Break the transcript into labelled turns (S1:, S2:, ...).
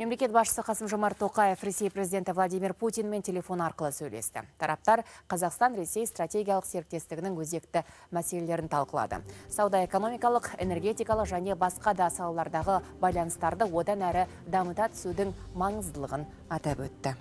S1: Мемлекет басшысы Қасым-Жомарт Тоқаев Ресей президенті Владимир Путинмен телефон арқылы сөйлесті. Тараптар Қазақстан-Ресей стратегиялық серіктестігінің өзекті мәселелерін талқылады. Сауда-экономикалық, энергетикалық және басқа да салалардағы байланыстарды одан әрі дамыта түсудің маңыздылығын атап өтті.